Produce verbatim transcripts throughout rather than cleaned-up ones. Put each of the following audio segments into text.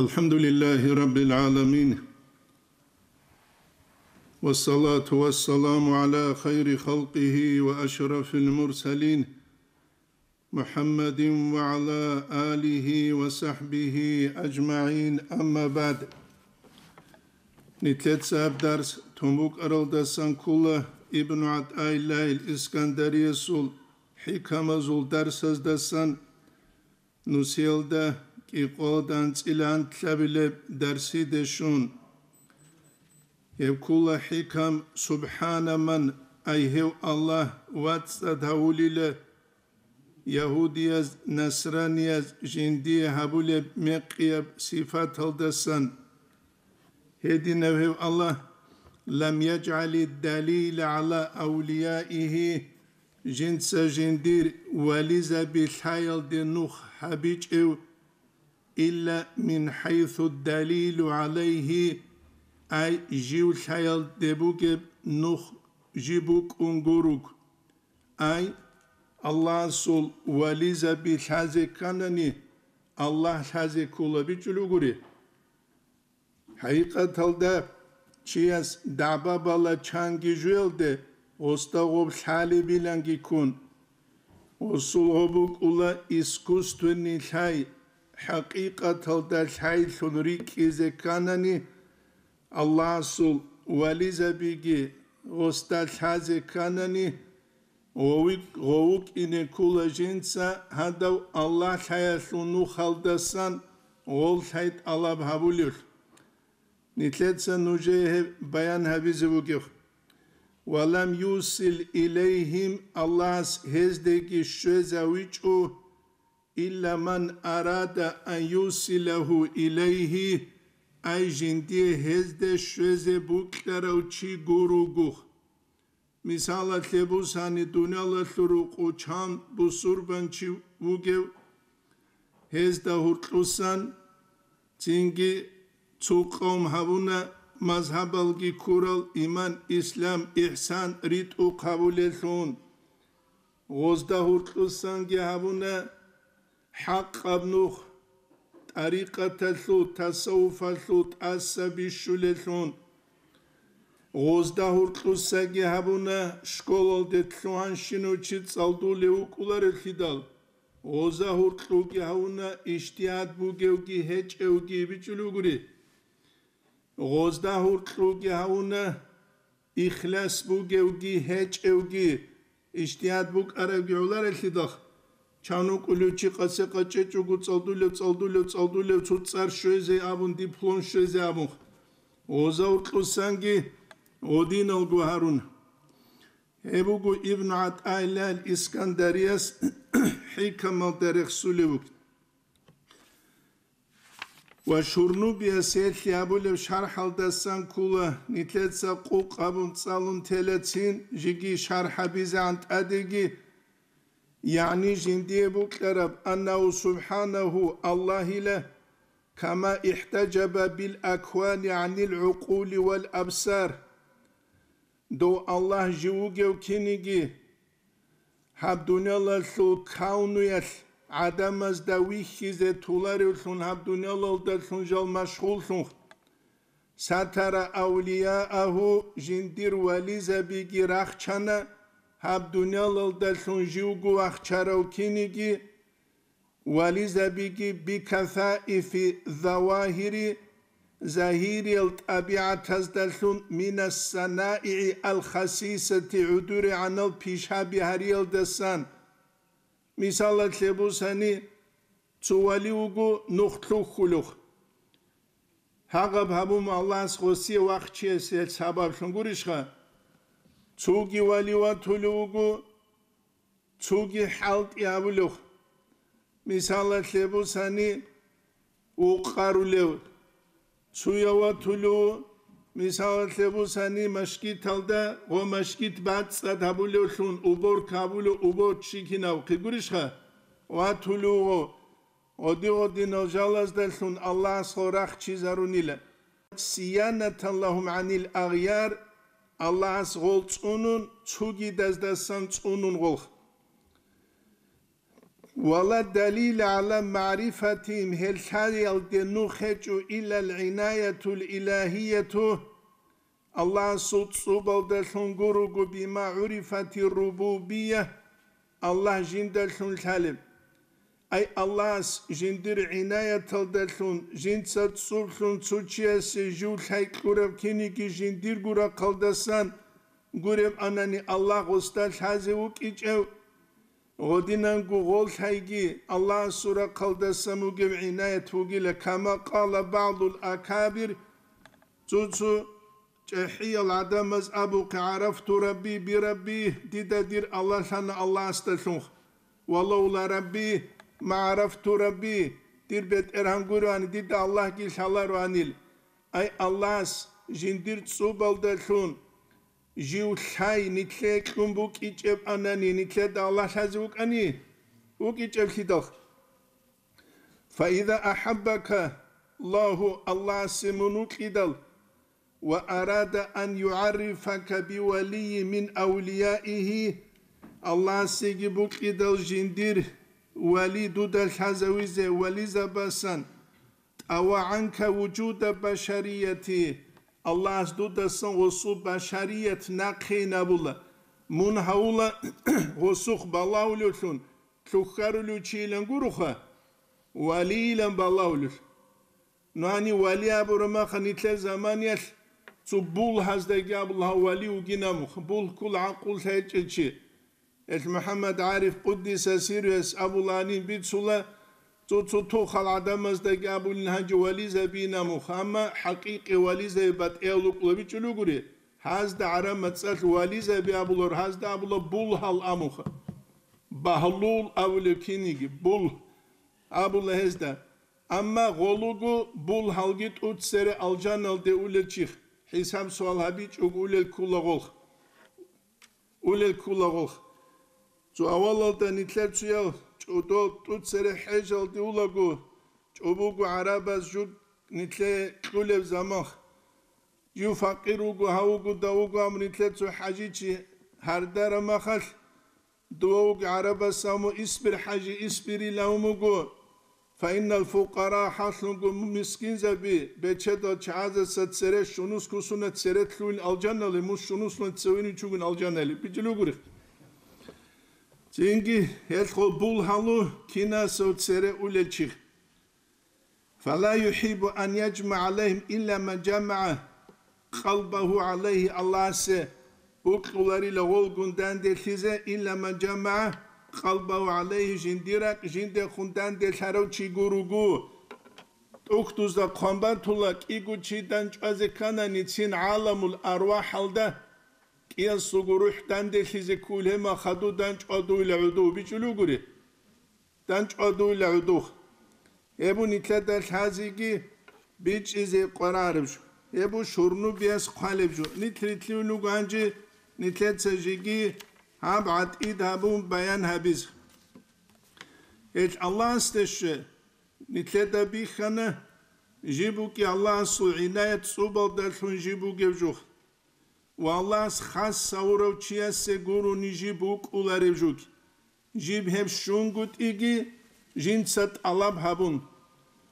الحمد لله رب العالمين، والصلاة والسلام على خير خلقه وأشرف المرسلين، محمد وعلى آله وصحبه أجمعين، أما بعد. Нилъеца гьаб дарс тун букӀаралдасан ккола Ибну ГӀатӀаиллагьил Искандариясул хӀикамазул дарсаздасан, нусиялда кӀикъоялда анцӀила анлъабилеб дарсиде щун. Гьеб ккола хӀикам: «СубхӀана ман», ай гьев Аллагь вацӀцӀад гьавулила ягьудияз, насранияз жиндие гьабулеб мекъияб сипаталдасан. Гьединав гьев Аллагь: «Лам яжгӀали далила гӀала авлияихи», жинца жиндир вализаби лъаялде нух гьабичӀев, «илла мин хӀайсу далилу гӀалайхи», ай жив лъаялде бугеб нух жиб букӀун гуруг. Ай, Аллагьасул вализаби лъазе кканани, Аллагь лъазе ккола бичӀчӀулев гури. ХӀакъикъаталда чияс дагӀба бала чанги жуялде гъосда гъоб лъалебиланги ккун. Гъосул гъоб букӀула искусственный лъай, хӀакъикъаталда лъайлъун рикӀкӀизе кканани, Аллагьасул вализабиги гъосда лъазе кканани, гъовик-, гъов вукӀине ккола жинца гьадав Аллагь лъаялъул нухалдасан гъол лъай тӀалаб гьабулев. Нилъеца нужее гьеб баян гьабизе вугев. «Ва лам юсил илайгьим», Аллагьас гьездеги щвезавичӀо, «илла ман арада ан юсилагьу илайгьи», ай жиндие гьезде щвезе букьарав чи гуругух. Мисалалъе бусани, дуниялалъул рукъу чан бусурбанчи вугев, гьезда гьуркьусан цинги цо къавм гьабуна мазгьабалги ккурал, иман, ислам, ихсан ритӀухъ гьабулелъун. Гъозда гьуркьусанги гьабуна хӀакъаб нух, тӀарикъаталъул, тасаввуфалъул тӀаса бищулелъун. Гъозда гьуркьусаги гьабуна школалде лъугьанщинав чи цӀалдулев вукӀуларелъидал, гъоза гьуркьуги гьавуна ижтигьад бугевги гьечӀевги бичӀчӀулев гури. Гъозда гьуркьуги гьавуна ихлас бугевги гьечӀевги, ижтигьад букӀарабги гӀоларелъидал, чан вукӀулев чи къасе къачӀечӀого цӀалдулев, цӀалдулев, цӀалдулев, цо цӀар щвезе абун, диплом щвезе абун, гъоза гьуркьусанги гъодиналго гьарун. Гьеб буго Ибн ГӀатӀаиллагь Искандарияс хӀикамалда рехсулев вугин. Ва Шурнубияс гьелъие гьабулеб шархӀалдасан ккола, нилъеца къукъ абун цӀалун телецин, жеги шархӀ гьабизегӀан тӀадеги, ягӀни жиндие букьараб, аннагьу субхӀанагьу, Аллагьила, кама ихтаджаба бил аквани гӀанил гӀукъули вал абсар. Дов Аллагь жив вугев киниги, гьаб дуниялалъул кавнуялъ гӀадамазда вихьизе толаревлъун, гьаб дуниялалдалъун жал машгъуллъун, сатара авлияагьу, жиндир вализабиги рахчана, гьаб дуниялалдалъун живго вахчарав киниги, вализабиги бикасаифи завагьири, загьириял тӀабигӀатаздалъун, минас санаигӀи ал-хасисати, гӀудурегӀанал пишаби гьариялдасан. Мисалалъе бусани, цо вали вуго нух лъухьулев. Гьагъаб гьабун Аллагьас гъосие вахчиясе сабаблъун гурищха? Цоги вали ватулев вуго, цоги хӀалтӀи гьабулев. Мисалалъе бусани, укъарулев, цуяв ватулев, мисалалъе бусани, машгиталда ва машгит бацӀцӀад гьабулевлъун, уборка гьабулев, уборщик гьинавхъе гурищха, ватулев гъо, гъоди-гъодинал жалаздалъун Аллагьас гъо рахчизарунила. Сиянатан лагьум гӀанил агъяр, Аллагьас гъол цӀунун, цугидаздасан цӀунун гъолх. Ва ла далила гӀала магӀрифатихим, гьел лъаялде нух гьечӀо, илла ал-гӀинаятул илагьияту, Аллагьасул цӀубалдалъун гуруго, бима гӀурифати рубубия, Аллагь жиндалъун лъалеб. Ай Аллагьас жиндир гӀинаяталдалъун, жинца цӀублъун цо чиясе жив лъай кьураб киниги жиндирго рахъалдасан гуреб анани Аллагь гъосда лъазе вукӀичӀев, гъодинанго гъол лъайги Аллагьасул рахъалдасан вугев гӀинаят вугила, кама къала багӀдул акабир, цо-цо чӀахӀиял гӀадамаз абухъе, гӀарафту Рабби би Рабби, дида дир Аллагь лъана Аллагьасдалъун, ва лавла Рабби ма гӀарафту Рабби, дир БетӀергьан гуроани, дида Аллагьги лъалароанил. Ай Аллагьас жиндир цӀубалдалъун жив лъай нилъее кьун букӀичӀеб анани, нилъеда Аллагь лъазе вукӀани? ВукӀичӀеблъидал. Фаиза ахӀаббака Аллагьу, Аллагьасе мун вукьидал, ва арада ан югӀаррифака бивалийи мин авлияихи, Аллагьасеги букьидал жиндир вали дуда лъазавизе вализабасан, тӀава гӀанка вужуда башарияти, Аллагьас дудасан гъосул башарият нахъейин абула, мун гьавула гъосухъ балагьулевлъун, лъухьарулев чийилан гуроха, валийилан балагьулев. Нани вали абураб маха нилъер заманиялъ цо булгьаздаги абула гьав вали вугинамуха, булгьккул гӀакъуллъи гьечӀел чи. Эл МухӀаммад ГӀариф къуддиса сирруяс абуланин бицула, цо-цо тухал гӀадамаздаги абулин гьанже вализабинамуха, амма хӀакъикъи вализаби батӀиял рукӀулабичӀул ругури, гьазда гӀараб мацӀалъ вализаби абулар, гьазда абула булгьал амуха. Багьлул абулев киниги, булгь абула гьезда. Амма гъолуго булгьалги тӀуцере алжаналде улел чих, хӀисаб-суал гьабичӀого улел ккула гъолх. Улел ккула гъолх. Цо авалалда нилъер цоял чӀодо тӀуцере хӀежалде улаго, чӀобого гӀарабаз жуг нилъее кьулеб замах. Жив факъир вуго, гьавуго, давуго, амма нилъер цо хӀажичи гьардараб махалъ, дова вуго гӀарабас, амма исбир, хӀажи, исбирила умуго, фаиннал фукъара, хӀалъунго мискинзаби, бечедал чагӀазаса цере щунус кусуна, цере лъугьин алжанали, мус щунусна цевени чугун алжанали. БичӀчӀулугури. Цинги гьелъго булгьалу кинасев цере улел чих. Фала юхӀиббу ан яжмагӀа гӀалайгьим илла ман жамагӀа къалбагьу гӀалайгьи, Аллагьасе букьуларила гъолгун данделъизе, илла ман жамагӀа къалбагьу гӀалайгьи, жиндир ракӀ жиндехун данделъарав чи гуруго. ТӀухьдузда хъван батула, кӀиго чи данчӀвазе ккана ницин гӀаламул арвахӀалда, кӀиясулго рухӀ данделъизе ккул гьема хаду данчӀвадуйла гӀуду, бичӀчӀулугури. ДанчӀвадуйла гӀудухъ. Гьеб нилъеда лъазеги бичӀчӀизе къварареб жо. Гьеб шурнубияс хъвалеб жо. Нилъ рилълъун руго гьанже нилъеца жеги гьаб гӀатӀид гьабун баян гьабизе. Гьел Аллагьасде щве, нилъеда бихьана, жиб букӀи Аллагьасул гӀинаят цӀубалдалъун жиб бугеб жо. Ва Аллагьас хас гьавурав чиясе гурони жиб вукӀуларев жуг. Жиб гьеб щунгутӀиги жинца тӀалаб гьабун.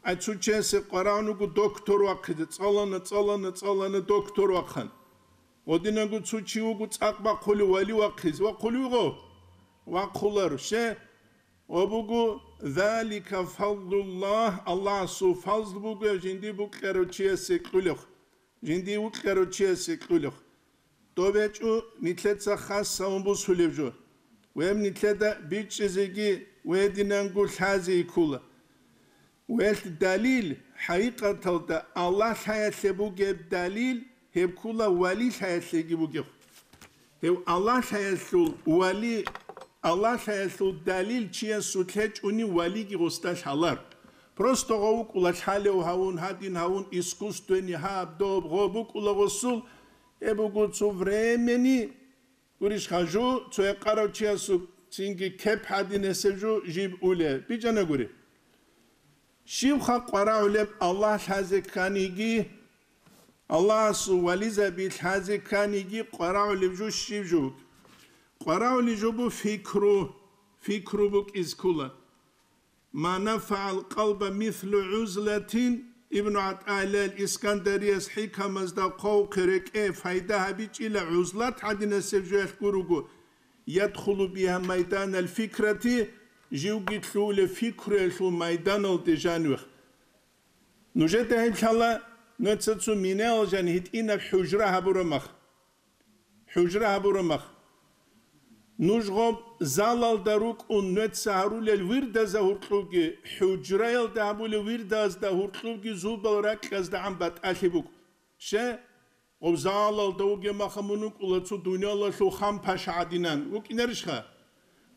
Ай цо чиясе къварагӀун вуго доктор вахъизе, цӀалана, цӀалана, цӀалана доктор вахъан. Гъодинанго цо чи вуго цӀакъ бахъулев вали вахъизе, вахъулев гъо? Вахъулар, ще? Ва буго, залика фадлуллагь, Аллагьасул фазл буго жинди букьарав чиясе кьулев. Жиндие вукьарав чиясе кьулев. ТӀобечӀо нилъеца хас гьавун бусулеб жо. Гьеб нилъеда бичӀчӀизеги ва гьединанго лъазе ккола. Гьелъ далил, хӀакъикъаталда Аллагь лъаялъе бугеб далил, гьеб ккола вали лъаялъеги бугеб. Гьев Аллагь лъаялъул вали, Аллагь лъаялъул далил чиясулъ гьечӀони валиги гъосда лъалар. Просто гъов вукӀула лъалев гьавун, гьадин гьавун, искусственный гьаб, доб, гъо букӀула гъосул, гьеб буго цо времени, гурищха, жо цо гьекъарав чиясул цинги кеп гьадин гьесев жо жиб уле. БичӀчӀана гури. Щибха къварагӀулеб Аллагь лъазе кканиги, Аллагьасул вализаби лъазе кканиги къварагӀулеб жо щиб жо? КъварагӀулеб жо бу фикру, фикру букӀиз ккола. «Ма нафагӀал къалба мислу гӀузлатин», Ибну ГӀатаиллагьил Искандарияс хӀикамазда хъвавухъе, рекӀее пайда гьабичӀила гӀузлат гӀадинасеб жоялъ гуруго, «ядхулу бигьа майданал фикрати», живги лъугьулев фикруялъул майданалде жанивех. Нужеда гьеб лъала, нуца цо минаялъ жан гьитӀинаб хӀужра гьабураб мах. ХӀужра гьабураб мах. Нуж гъоб залалда рукӀун нуца гьарулел вирдазда гьуркьубги, хӀужраялда гьабулев вирдазда гьуркьубги зубал ракьаздагӀан батӀалъи букӀ. Ще, гъоб залалда вугеб маха мун вукӀула цо дуниялалъул хан-паша гӀадинан вукӀинарищха?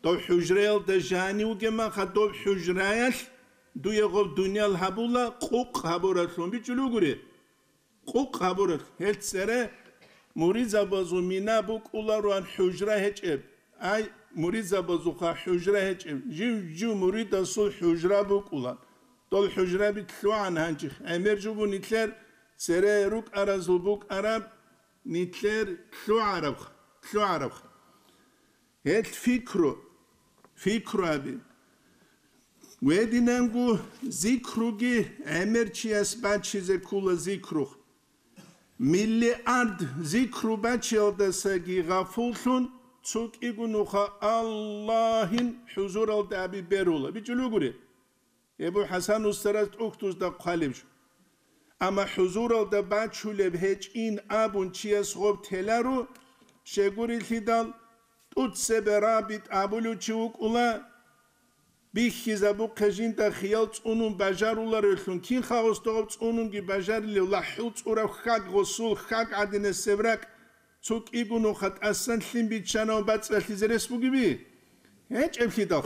Дов хӀужраялда жанив вугеб маха, доб хӀужраялъ дуе гъоб дуниял гьабула къукъ гьабураблъун бичӀчӀулев гури. Къукъ гьабураб гьел цере муридзабазул мина букӀулароан хӀужра гьечӀеб. Ай, муридзабазулха хӀужра гьечӀеб. Жив-жив муридасул хӀужра букӀула. Дол хӀужраби лъугӀан гьанжих. ГӀемер жубу нилъер цере рукӀаразул букӀараб, нилъер лъугӀарабха, лъугӀарабха. Гьел фикру, фикру аби. Гьединанго зикруги гӀемер чияс бачизе ккула зикру. Миллиард зикру бачиялдасаги гъафуллъун, цо кӀиго нуха Аллагьин хӀузуралда аби берула. БичӀчӀулев гури? Гьеб буго ХӀасан устарас тӀухьдузда хъвалеб жо. Амма хӀузуралда бачулеб гьечӀин абун чияс гъоб теларо, щегурелъидал, тӀуцебе рабит абулев чи вукӀула, бихьизабухъе жинда хиял цӀунун бажаруларевлъун, кинха гъосда гъоб цӀунунги бажарилев лахӀул цӀураб хьаг, гъосул хьаг гӀадинасеб ракӀ, цо кӀиго нуха тӀасан лъим биччанав бацӀцӀалъизе рес бугеби? ГьечӀеблъидал.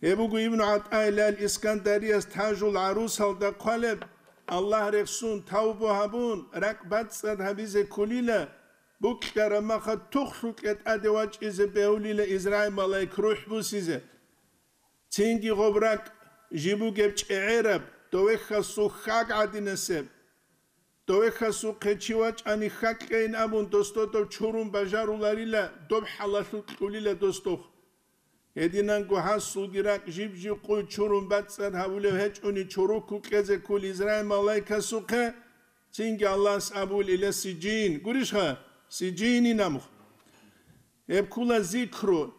Гьеб буго Ибну ГӀатаиллагьил Искандарияс Тажул ГӀарусалда хъвалеб: Аллагь рехсун, тавбу гьабун, ракӀ бацӀцӀад гьабизе кколила, букьараб маха тухлъукье тӀаде вачӀизе бегьулила Израил малаик рухӀ бусизе. Цинги гъоб ракӀ жиб бугеб чӀегӀераб, довехьасул хьаг гӀадинасеб. Довехьасухъе чи вачӀани хьакьейин абун, досдодав чурун бажаруларила, доб хӀалалъул кьулила досдохъ. Гьединанго гьасулги ракӀ жиб-жиб къуй чурун бацӀцӀад гьавулев гьечӀони чорокку кьезе ккул Израил малайкасухъе, цинги Аллагьас абул ила сиджин, гурищха, сиджинин амухъ. Гьеб ккула зикру.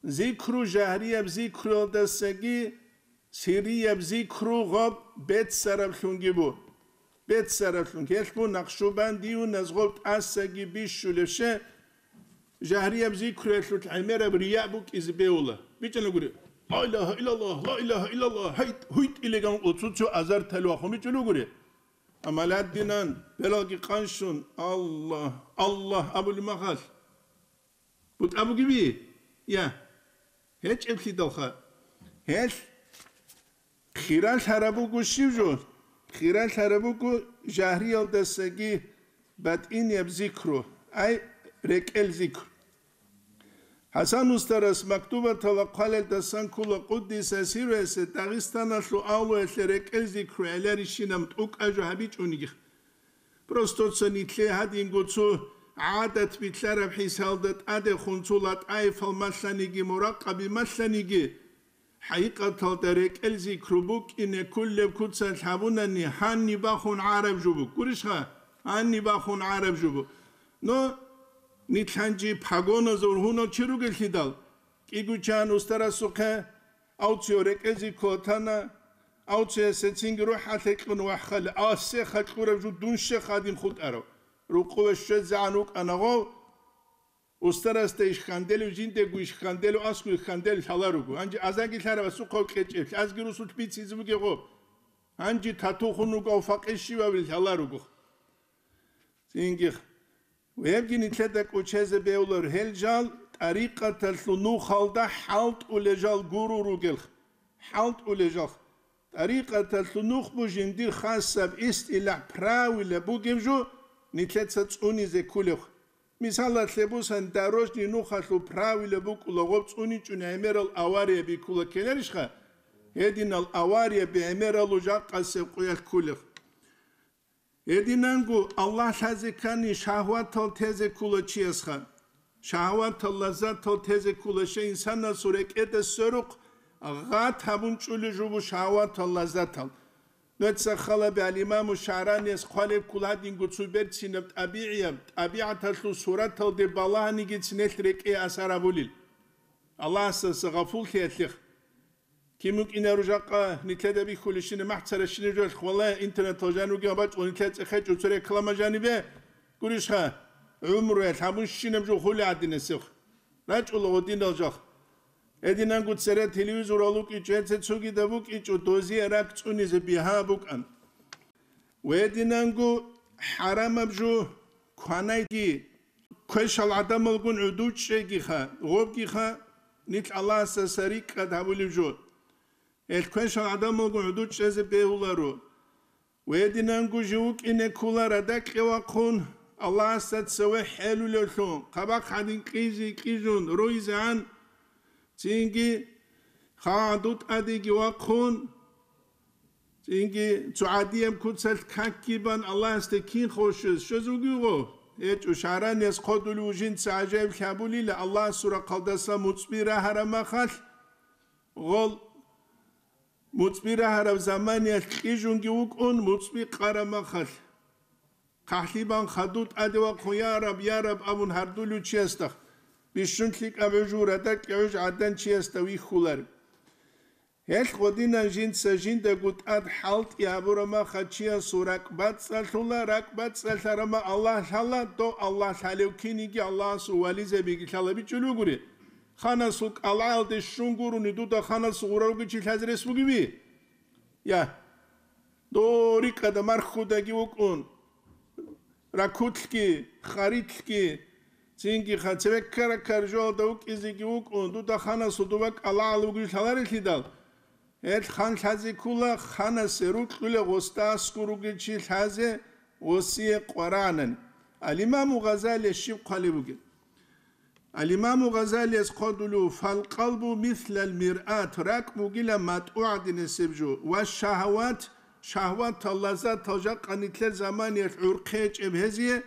Зикру жагьрияб зикруялдасаги сиррияб зикру гъоб беццараблъунги бу. Беццараблъун гьелъ бу Накъшубандиюназ гъоб тӀасаги бищулеб ше, жагьрияб зикруялъул гӀемераб рия букӀизе бегьула. БичӀчӀана гури: «Ла илагьа иллаллагь, ла илагьа иллаллагь, гьайт, гьуйт», илеган оцу цо азар талвахун бичӀчӀулев гури. Амма ладдинан, белалги къанщун, «Аллагь, Аллагь» абулеб махалъ. БутӀа бугеби? Я. ГьечӀеблъидалха. Гьелъ хиралъараб буго щив жо? Хиралъараб буго жагьриялдасаги батӀинияб зикру, ай, рекӀел зикру. ХӀасан устарас мактубатала хъвалелдасан ккула къуддиса сирругьу Дагъистаналъул авлуялъе рекӀел зикру гӀеларищинаб тӀокӀаб жо гьабичӀониги. Просто ца нилъее гьадинго цо гӀадат билълъараб хӀисалда тӀадехун цо латӀаифал малъаниги, муракъаби малъаниги, хӀакъикъаталда рекӀел зикру букӀине кколеб куцалъ гьабунани гьаниб бахун гӀараб жо буго. Гурищха? Гьаниб бахун гӀараб жо буго. Но нилъ гьанжи погоназул гьунал чи ругелъидал, кӀиго чан устарасухъе, Авцио рекӀезе ккотана, авциясе цинги рухӀалъе кьун вахъали, а сеха кьураб жо дун щех гьадин хутӀарав. Рукъове щвезегӀан вукӀана гъов, устарасда иш хьанделев, жиндего иш хьанделев, аскӀов иш хьанделев лъала руго. Гьанже азаги лъарав асухъав кьечӀеб, лъазги русулъ бицизе бугеб гъоб. Гьанже тату хун вугав факъир щивав лъала руго. Цинги Гьебги нилъеда кӀочезе бегьулар, гьел жал тӀарикъаталъул нухалда хӀалтӀулел жал гурур ругел, хӀалтӀулел жал. ТӀарикъаталъул нух бу жиндир хасаб истилахӀ, правила бугеб жо нилъеца цӀунизе кколеб. Мисалалъе бусан, дорожный нухалъул правила букӀула гъоб цӀуничӀун гӀемерал авария биккула ккеларищха? Гьединал авария бегӀмералу жакъасеб къуялъ кколеб. Гьединанго Аллагь лъазе ккани шагьватал тезе ккула чиясха. Шагьватал, лаззатал тезе ккула щай инсанасул рекӀеда сверухъ гъат гьабун чӀулев жо буго шагьаватал, лаззатал. Нуца халаби ал-Имаму ШагӀраниялъ хъвалеб ккола гьадинго цо берцинаб тӀабигӀияб, тӀабигӀаталъул сураталде балагьанигицин гьелъ рекӀее асар гьабулел. Аллагьасдаса гъафуллъиялъех. Кин букӀинаро жакъа нилъеда бихьулебщинаб, махӀ царабщинаб жоялъ хвалая, интернеталда жанивгин бачӀун нилъеда цӀехечӀо цо реклама жанибе, гурищха, гӀумруялъ гьабунщинаб жо хулеб гӀадинасеб. РачӀула гъодинал жал. Гьединанго цере телевизорал вукӀичӀо, гьеце цогидаб букӀичӀо, дозие ракӀ цӀунизе бигьа букӀан. Ва гьединанго хӀарамаб жо кванайги, квешал гӀадамалгун гӀуду чӀегиха, гъобгиха, нилъ Аллагьасдаса рикӀкӀад гьабулеб жо. Гьелъ квешал гӀадамалгун гӀуду чӀезе бегьуларо. Ва гьединанго жив вукӀине ккола радакье вахъун, Аллагьасда цеве хӀелулевлъун, хъабахъ гьадин кьизе кьижун руйзегӀан, цинги хагӀ гӀаду тӀадеги вахъун, цинги цо гӀадияб куцалъ какги бан Аллагьасде кин хошуз щвез вугевго? ГьечӀо, ШагӀраниялъ хъодулев жинца гӀажаиблъи гьабулила, Аллагьасул рахъалдаса муцӀби рагьараб махалъ, гъол муцӀби рагьараб заманиялъ кьижунги вукӀун, муцӀби къараб махалъ. ХъахӀлъи бан хадув тӀаде вахъун, «Я Раб, я Раб», – абун гьардулев чиясда, бищун лъикӀаб гӀуж, радакье гӀуж гӀадан чиясда вихьулар. Гьелъ гъодинан жинца жиндаго тӀад хӀалтӀи гьабураб махалъ чиясул ракӀ бацӀцӀалъула, ракӀ бацӀцӀалъараб махалъ Аллагь лъала, дов Аллагь лъалев киниги Аллагьасул вализабиги лъалабичӀул ругури. Ханасул кӀалгӀаялде щун гурони дуда ханасул гъурал ругел чи лъазе рес бугеби? Я. Дов рикӀкӀада мархудаги вукӀун, ракулъги, харилъги, цинги ха-, цеве ккара-ккара жоялда вукӀизеги вукӀун, дуда ханасул дова кӀалгӀал вугев лъаларелъидал, гьел хан лъазе ккола, ханасе рукьулев гъосда аскӀор ругел чи лъазе, гъосие къварагӀанани. Ал-Имаму Гъазалияс щиб хъвалеб бугеб? Ал-Имаму Гъазалияс хъодулев: «Фалкъалбу мислал миръат», ракӀ бугила матӀу гӀадинасеб жо, ва шагьават, шагьватал, лаззатал жакъа нилъер заманиялъ гӀурхъи гьечӀеб гьезие,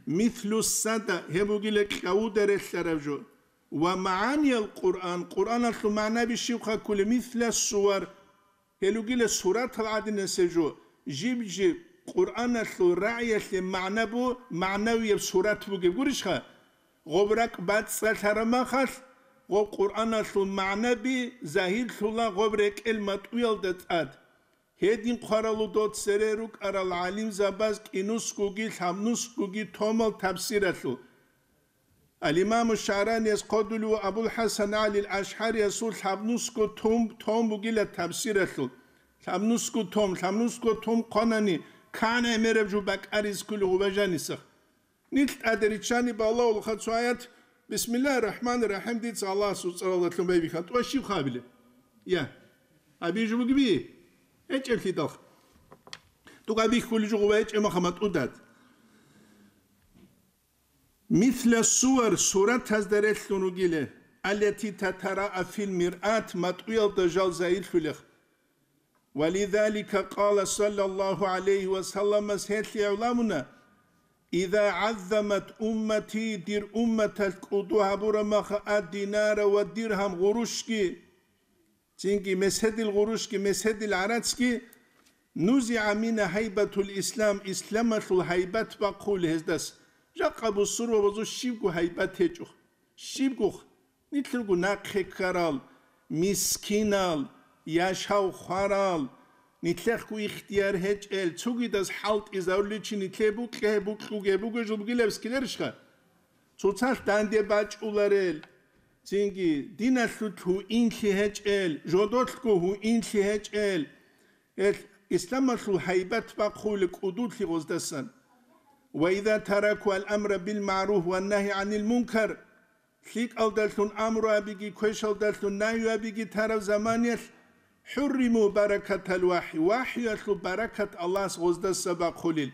мислу сада, гьеб бугила кьавуда релълъараб жо, ва магӀаниял Къуръан, Къуръаналъул магӀнаби щибха кколеб, мисла сувар, гьел ругила суратал гӀадинасеб жо, жиб-жиб Къуръаналъул рагӀиялъе магӀна бу-, магӀнавияб сурат бугеб гурищха? Гъоб ракӀ бацӀцӀалъараб махалъ, гъоб Къуръаналъул магӀнаби загьирлъула гъоб рекӀел матӀуялда тӀад. Гьедин хъваралу дов цере рукӀарал гӀалимзабаз кӀинусгоги лъабнусгоги томал тафсиралъул. Ал-Имаму ШагӀраниялъ хъодулев Абул-ХӀасан ГӀалил АшгӀариясул лъабнусго том, том бугила тафсиралъул. Лъабнусго том, лъабнусго том хъванани, кан гӀемераб жо бакӀаризе кколев гъубажанисах. Нилъ тӀаде риччани балагьулха цо аят, «Бисмиллагьир рахӀманир рахӀим», дица Аллагьасул цӀаралдалъун байбихьан, тӀуба щиб хабилеб? Я. Гьабизе жо бугеби? ГьечӀеблъидалха. ТӀуба бихьулеб жо гъуба гьечӀеб маха матӀудад. Мисла сувар, суратазда релълъун ругила, аллати татараа фил миръат, матӀуялда жал загьирлъулех. Ва лизалика къала саллаллагьу гӀалайгьи ва салламас гьелъие гӀуламуна: «Иза гӀаззамат уммати», дир умматалъ кӀуду гьабураб маха ад-динара ва диргьам гъурущги, цинги меседил гъурущги, меседил гӀарацги, «нузигӀа мингьа гьайбатул ислам», исламалъул гьайбат бахъулеб гьездас. Жакъа бусурбабазул щибго гьайбат гьечӀо. Щибго нилъ руго нахъе ккарал, мискинал, яшав хварал, нилъехъго ихтияр гьечӀел, цогидаз хӀалтӀизарулел чи нилъее букье, букьуге бугеб жо бугилеб скилерищха? Цоцалъ данде бачӀуларел, цинги диналъулъ гьуинлъи гьечӀел, жодолъго гьуинлъи гьечӀел, гьел исламалъул гьайбат бахъулеб кӀудулъи гъоздасан. «Ва иза тараку ал-амра бил-магӀруф ва нагьи гӀанил мункар», лъикӀалдалъун амру абиги, квешалдалъун нагью абиги тараб заманиялъ, «хӀурриму баракатал вахӀи», вахӀиялъул баракат Аллагьас гъоздаса бахъулел.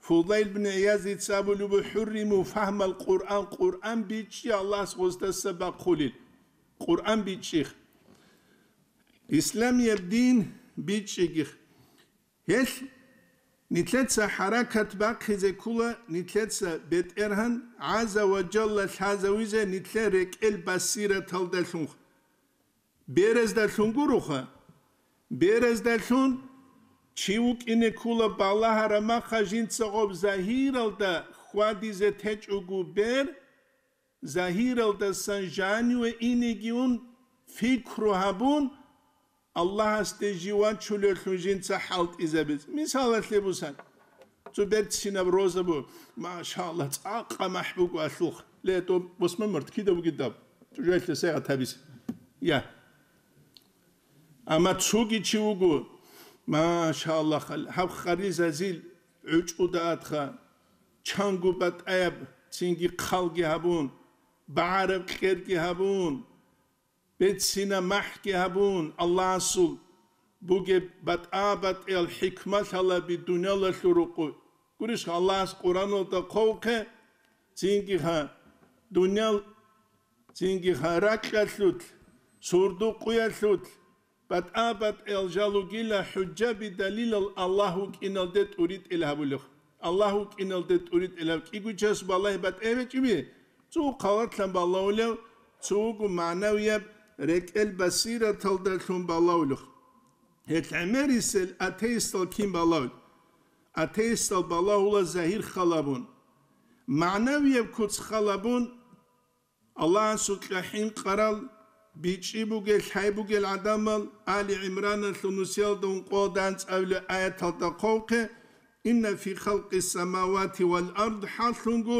Фудайл бин ГӀиязица абулеб буго: «ХӀурриму фагьмал Къуръан», Къуръан бичӀчӀи Аллагьас гъоздаса бахъулел. Къуръан бичӀчӀих. Исламияб дин бичӀчӀигих. Гьелъ нилъеца хӀаракат бахъизе ккола, нилъеца БетӀергьан ГӀазза ва Жалла лъазавизе нилъер рекӀел басираталдалъун. Бераздалъун гуроха. Бераздалъун чи вукӀине ккула балагьараб маха жинца гъоб загьиралда хьвадизе течӀого бер, загьиралдасан жаниве инеги ун, пикру гьабун, Аллагьасде жив вачулевлъун жинца хӀалтӀизабиз. Мисалалъе бусан, цо берцинаб роза бу, машаллагь, цӀакъа махӀ буго алъулх. Ле, тӀо босмамарт кида бугидаб? ЧӀужуялъе сегъат гьабиз. Я. Амма цоги чи вуго, машаллагь, гьаб харизазил гӀучӀуда атха, чанго батӀаяб, цинги хъалги гьабун, багӀараб кьерги гьабун, бецина махӀги гьабун, Аллагьасул бугеб батӀа-батӀиял хӀикмалъалаби дуниялалъул рукъу. Гурищха, Аллагьас Къуръаналда хъовхъе, цинги гьа, дуниял, цинги гьа, ракьалъулъ, сурдукъуялъулъ, батӀа-батӀиял жал ругила хӀужжаби далилал Аллагь вукӀиналде тӀуритӀел гьабулев. Аллагь вукӀиналде тӀуритӀел гьаб кӀигучас балагьи батӀа гьечӀиби? Цо хъалатлъан балагьулев, цо вуго магӀнавияб рекӀел басираталдалъун балагьулев. Гьел гӀемерисел атеистал кин балагьул? Атеистал балагьула загьир халабун, магӀнавияб куц халабун, Аллагьасукьа хӀинкъарал бичӀчӀи бугел, лъай бугел гӀадамал. Али ГӀимраналъул нусиялда ункъоялда анцӀабилеб аяталда хъовхъе: «Инна фи халкъи самавати вал ард», хӀаллъунго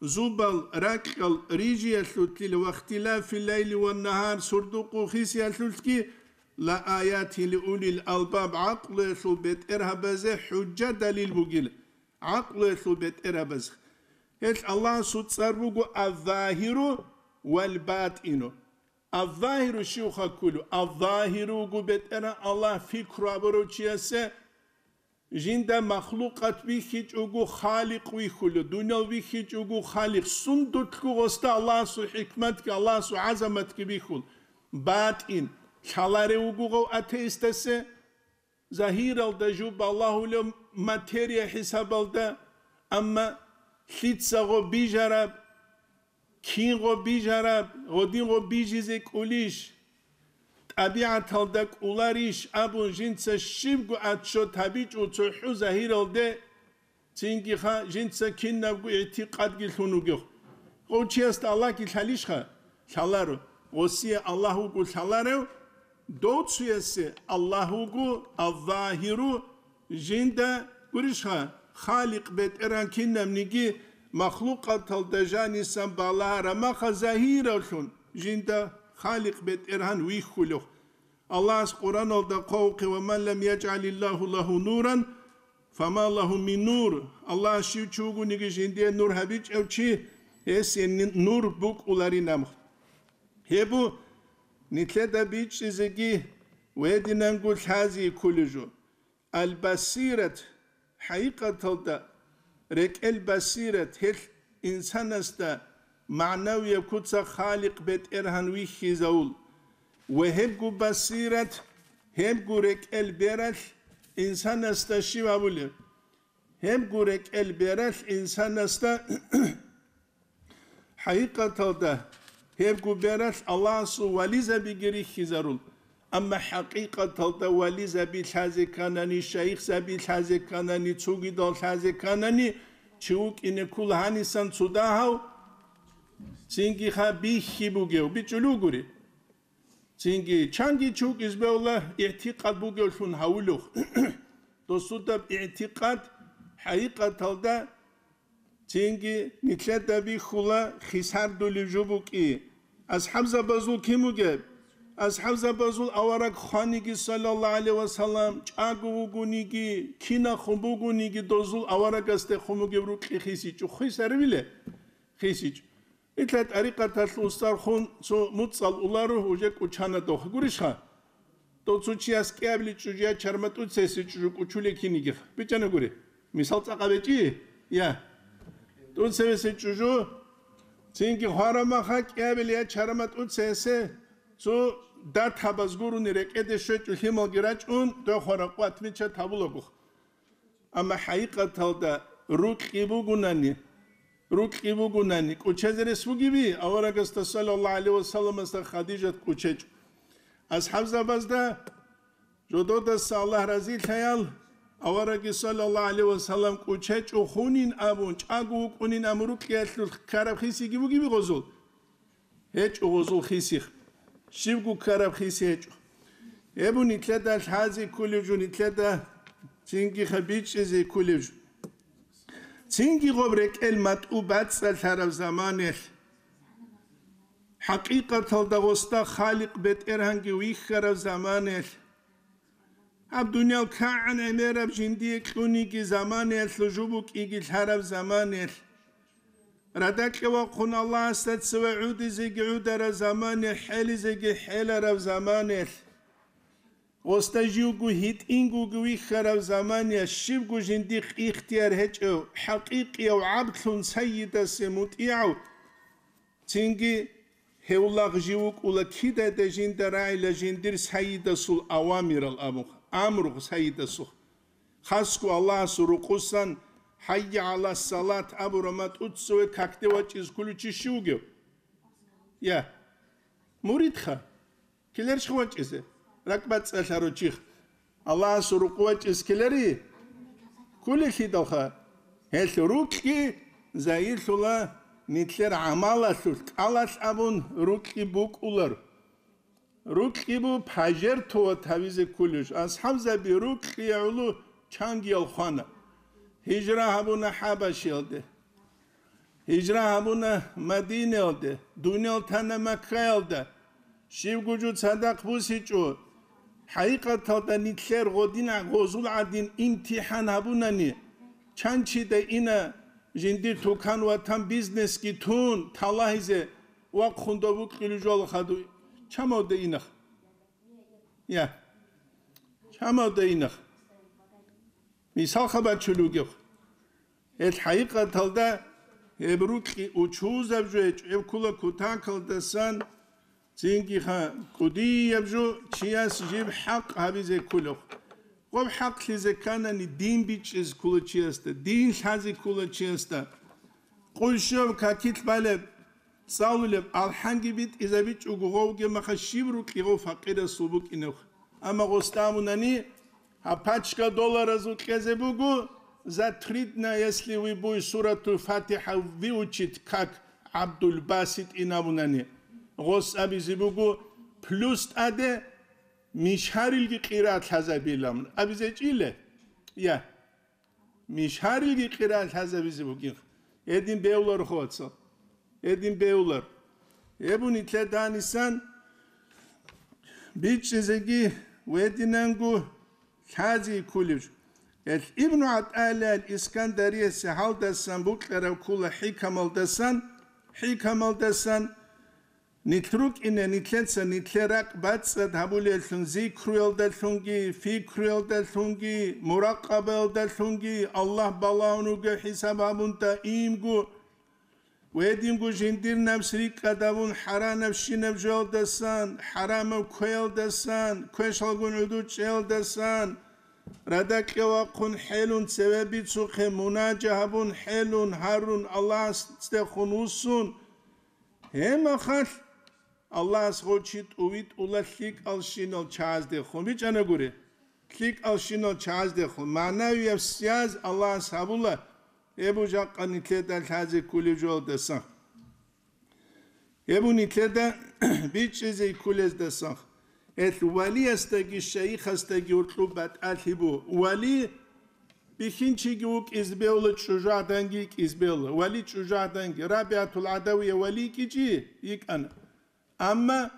зубал ракьал рижиялъулъил, вахтилафи лайли ва нагьар, сурдукъу хисиялъулъги, ла аятин ли улил албаб, гӀакълуялъул бетӀергьабазе хӀужжа, далил бугила. ГӀакълуялъул бетӀергьабаз. Гьелъ Аллагьасул цӀар буго Аззагьиру вал Батину. Аззагьиру щивха кколев? Аззагьиру вуго БетӀергьан Аллагь, пикру гьабурав чиясе жинда махлукъат бихьичӀого Халикъ вихьулев, дуниял бихьичӀого Халикъ. Сундулъго гъосда Аллагьасул хӀикматги, Аллагьасул гӀазаматги бихьул. БатӀин лъаларев вуго гъов атеистасе. Загьиралда жо балагьулев материя хӀисабалда, амма лъица гъо бижараб, кин гъо бижараб, гъодин гъо бижизе кӀулищ, тӀабигӀаталда кӀуларищ абун жинца щибго отчет гьабичӀо цохӀо загьиралде. Цинги ха, жинца кинабго игӀтикъадги лъун вугев. Гъов чиясда Аллагьги лъалищха? Лъаларо. Гъосие Аллагь вуго лъаларев, дов цуясе Аллагь вуго Аллагьиру, жинда гурищха, Халикъ БетӀергьан кинабниги махлукъаталда жанисан балагьараб маха загьиравлъун жинда Халикъ БетӀергьан вихьулев. Аллагьас Къуръаналда хъвавухъе: «Ва ман лам яжгӀалиллагьу лагьу нуран, фама лагьу мин нур». Аллагьас щив чи вугониги жиндие нур гьабичӀев чи, гьесие ни-, нур букӀуларинаб. Гьеб бу нилъеда бичӀчӀизеги ва гьединанго лъази кколеб жо. Аль-Басират, хӀакъикъаталда, рекӀел басират, гьелъ инсанасда магӀнавияб куца Халикъ БетӀергьан вихьизавул. Ва гьебго басират, гьебго рекӀел бералъ инсанасда щиб абулеб? Гьебго рекӀел бералъ инсанасда ХӀакъикъаталда, гьебго бералъ Аллагьасул вализабиги рихьизарул. Амма хӀакъикъаталда вализаби лъазе кканани, шайихзаби лъазе кканани, цогидал лъазе кканани, чи вукӀине ккола гьанисан цо дагьав, цинги ха бихьи бугев, бичӀчӀулев гури. Цинги чанги чи вукӀизе бегьула игӀтикъад бугевлъун гьавулев. Досудаб игӀтикъад хӀакъикъаталда Цинги нилъеда бихьула хисардулев жо букӀи. АсхӀабзабазул кин бугеб? АсхӀабзабазул авараг хваниги, саллаллагьу гӀалайгьи ва саллам, чӀаго вугониги, кинахун бугониги, дозул аварагасдехун бугеб рукьи хисичӀо. Хисарабиле? ХисичӀо. Итла тӀарикъаталъ устархун цо муцӀал уларо, уже кӀучана дохъ. Гурищха? Дов цо чияс кӀиабилеб чӀужу я чарма тӀуцесеб чӀужу кӀучулеб кинигиха. БичӀчӀана гури. Мисал цӀакъа бечӀи? Я. ТӀуцевесеб чӀужу, цинги хварамаха кӀиабилеб я чарма тӀуцесеб, цо датабаз гурони рекӀеде щвечӀо лъималги рачӀун, дов хвара къватмича табулагуха. Амма хӀакъикъаталда рукьи бугунани, рукьи бугунани, кӀучезе рес бугеби? Аварагасда, саллаллагьу гӀалайгьи ва салламасда, Хадижат кӀучечӀо. АсхӀабзабазда жододаса Аллагь разилъаял, аварагги саллаллагьу гӀалайгьи ва саллам кӀучечӀо хунин абун, чӀаго вукӀунин абун рукьиялъул ккараб хисиги бугеби гъозул? ГьечӀо гъозул хисихъ. Щибго ккараб хиси гьечӀо. Гьеб нилъеда лъази кколев жо, нилъеда цинги хабичӀизе кколев жо. Цинги гъоб рекӀел матӀу бацӀцӀалъараб заманаялъ, хӀакъикъаталда гъосда Халикъ БетӀергьанги вихьараб заманаялъ, гьаб дуниял кагӀан гӀемераб жиндие кьуниги заманаялъул жо букӀиги лъараб заманаялъ, радакье вахъун Аллагьасда цеве гӀодизеги гӀодараб заманаялъ, хӀелизеги хӀелараб заманаялъ, гъосда живго гьитӀингоги вихьараб заманаялъ, щибго жиндихъ ихтияр гьечӀев, хӀакъикъияв гӀаблъун сайидасе мутӀигӀав, цинги гьев лагъ жив вукӀула кидада жинда рагӀила жиндир сайидасул авамирал абун, амру сайидасухъ. Хасго Аллагьасул рукъусан «ХӀайя гӀала салат» абураб матӀу цеве какде вачӀиз кколев чи щив вугев? Я. Муридха. Ккелерищха вачӀизе? РакӀбацӀцӀалъарав чихъ. Аллагьасул рукъу вачӀиз ккелери? Кколелъидалха. Гьелъ рукьги загьирлъула нилъер гӀамалалъулъ, кӀалалъ абун рукьги букӀулар. Рукьги бу пожертвовать гьавизе кколев жо. АсхӀабзаби рукьги гӀоло чангиял хвана. Гьижра гьабуна ХӀабашиялде. Гьижра гьабуна Мадинаялде, дуниял тана Маккаялда, щибго жо цадахъ бусичӀо. ХӀакъикъаталда нилъер гъодин гъозул гӀадин имтихӀан гьабунани, чанчида ина жиндир тукан-ватан бизнесги тун, талагьизе вахъун дов вукьулев жо хадуй, чамавда инах. Я, чамавда инах. Мисал хабар чулугев. Гьел хӀакъикъаталда гьеб рукьи учузаб жо гьечӀо, гьеб ккула кутакалдасан, цинги ха кӀудияб жо чияс жиб хӀакъ гьабизе кколев. Гъоб хӀакълъизе кканани, дин бичӀчӀизе ккола чиясда, дин лъазе ккола чиясда. Къуй щибаб какилъ балеб, цӀалулеб, алхӀанги битӀизабичӀого гъовги маха щиб рукьи гъов факъирасул букӀинев. Амма гъосда абунани, гьаб пачка долларазул кьезе буго, за три дня, если вы будете суратул ФатихӀа выучить, как ГӀабдул Басит ин абунани, гъос абизе буго, плюс тӀаде мишгьарилги къираат лъазабилан абизе чӀиле? Я. Мишгьарилги къираат лъазабизе бугин. Гьедин бевлар, хо, вацал. Гьедин бевлар. Гьеб нилъеда данисан бичӀчӀизеги гьединанго лъази кколев. Гьел Ибну ГӀатӀаилла ал-Искандариясе гьалдасан букьараб ккола хӀикамалдасан, хӀикамалдасан, нилъ рукӀине нилъеца нилъер ракӀ бацӀцӀад гьабулеллъун зикруялдалъунги, фикруялдалъунги, муракъабаялдалъунги, Аллагь балагьун вугев хӀисаб гьабун даимго, гьединго жиндир напс рикӀкӀад гьабун хӀаранабщинаб жоялдасан, хӀарамаб квеялдасан, квешалгун гӀодов чӀеялдасан, радакье вахъун хӀелун цеве бицухъе мунажа гьабун хӀелун гьарун Аллагьасдехун вуссун, гьеб мехалъ Аллагьас гъов чи тӀувитӀула лъикӀалщинал чагӀаздехун. БичӀчӀана гури, лъикӀалщинал чагӀаздехун, магӀнавияб связь Аллагьас гьабула, гьеб жакъа нилъеда лъазе кколев жоялдасан. Гьеб нилъеда бичӀчӀизе кколездасан. Гьелъ валиясдаги шайихасдаги гьоркьоб батӀалъи бу. Вали бихьинчиги вукӀизе бегьула, чӀужугӀаданги йикӀизе бегьула. Вали чӀужугӀаданги, РабигӀатул ГӀадавия вали йикӀичӀи йикӀана. Амма